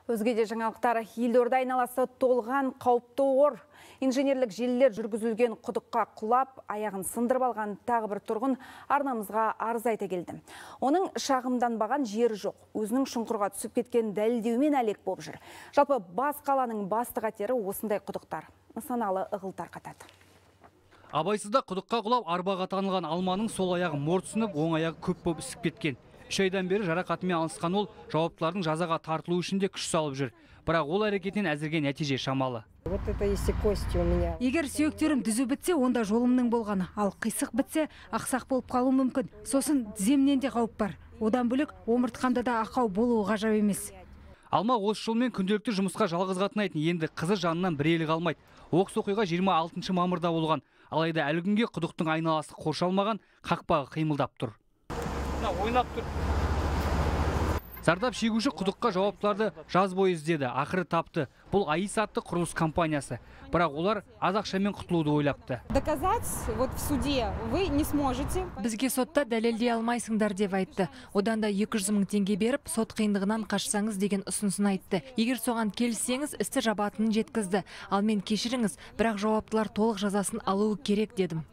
Өзгеде жаңалықтар, елорда айналасы толған қауіпті ор. Инженерлік желілер жүргізілген құдыққа құлап, аяғын сындырып алған тағы бір тұрғын арнамызға арыз айта келді. Оның шағымданбаған жері жоқ. Өзінің шұңқырға түсіп кеткен дәлелдеумен әлек болып жүр. Жалпы бас қаланың басты қатері осындай құдықтар. Нысаналы ығыл тарқатады. Абайсызда құдыққа құлап арбаға таңылған алманың сол аяғы морт сынып, оң аяғы көп болып ісіп кеткен. 3 айдан бері жарақатымен алысқан ол жауаптылардың жазаға тартылу үшін де күш салып жүр. Бірақ ол әрекетінен әзірге нәтиже шамалы. Егер сүйектерім түзу бітсе, онда жолымның болғаны. Ал қисық бітсе, ақсақ болып қалу мүмкін. Сосын тіземнен де қауіп бар. Одан бөлек омыртқамда да ақау болуы ғажап емес. Алма осы жолмен күнделікті жұмысқа жалғыз қатынайтын, енді қызы жанынан бір елі қалмайды. Оқыс оқиға 26 мамырда болған. Алайда әлі күнге құдықтың айналасы қоршалмаған, қақпағы қимылдап тұр. Ойнап тұр. Зардап шегуші құдыққа жауаптыларды жаз бойы іздеді, ақыры тапты. Бұл АИС атты құрылыс компаниясы. Бірақ олар аз ақшамен құтылуды ойлапты. Доказать вот в суде вы не сможете. Бізге сотта дәлелдей алмайсыңдар деп айтты. Одан да 200 мың теңге беріп, сот қиындығынан қашсаңыз деген ұсынысын айтты. Егер соған келіссеңіз, істі жабатынын жеткізді. Ал мен кешіріңіз, бірақ жауаптылар толық жазасын алуы керек дедім.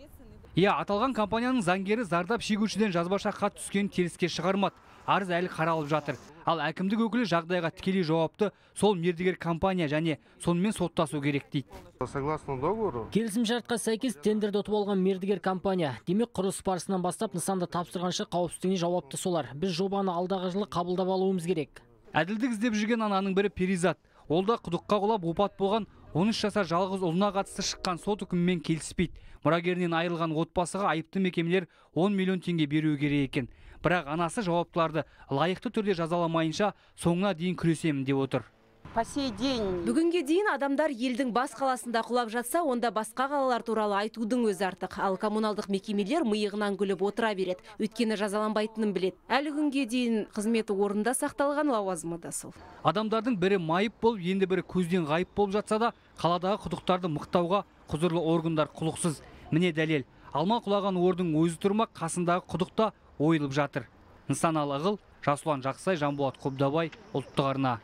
Аталған компанияның заңгері зардап шегушіден жазбаша хат түскен теріске шығармады. Арыз әлі қаралып жатыр. Ал әкімдік өкілі жағдайға тікелей жауапты сол мердігер компания және сонымен соттасу керек дейді. Согласно договору, келісімшартқа сәйкес тендерді ұтып алған мердігер компания. Демек құрылыс барысынан бастап нысанды тапсырғанша қауіпсіздігіне жауапты солар. Біз жобаны алдағы жылы қабылдап алуымыз керек. Әділдік іздеп жүрген ананың бірі Перизат. Ол да құдыққа құлап опат болған 13 жасар жалғыз ұлына қатысты шыққан сот үкімімен келіспейді. Мұрагерінен айырылған отбасыға айыпты мекемелер 10 миллион теңге беруі керек екен. Бірақ анасы жауаптыларды лайықты түрде жазаламайынша соңына дейін күресемін деп отыр. Бүгінге дейін адамдар елдің бас қаласында құлап жатса, онда басқа қалалар туралы айтудың өзі артық. Ал коммуналдық мекемелер миығынан күліп отыра береді. Өйткені жазаланбайтынын білет. Әлі күнге дейін қызметі орында сақталған лауазымы да сол. Адамдардың бірі майып болып, енді бірі көзден ғайып болып жатса да, қаладағы құдықтарды мықтауға құзырлы органдар құлықсыз. Міне дәлел. Алма құлаған ордың өзі тұрмақ, қасындағы құдықта ойылып жатыр. Нысаналы ығыл, Жасұлан Жақсай, Жанболат Қобдабай, ұлттық арна.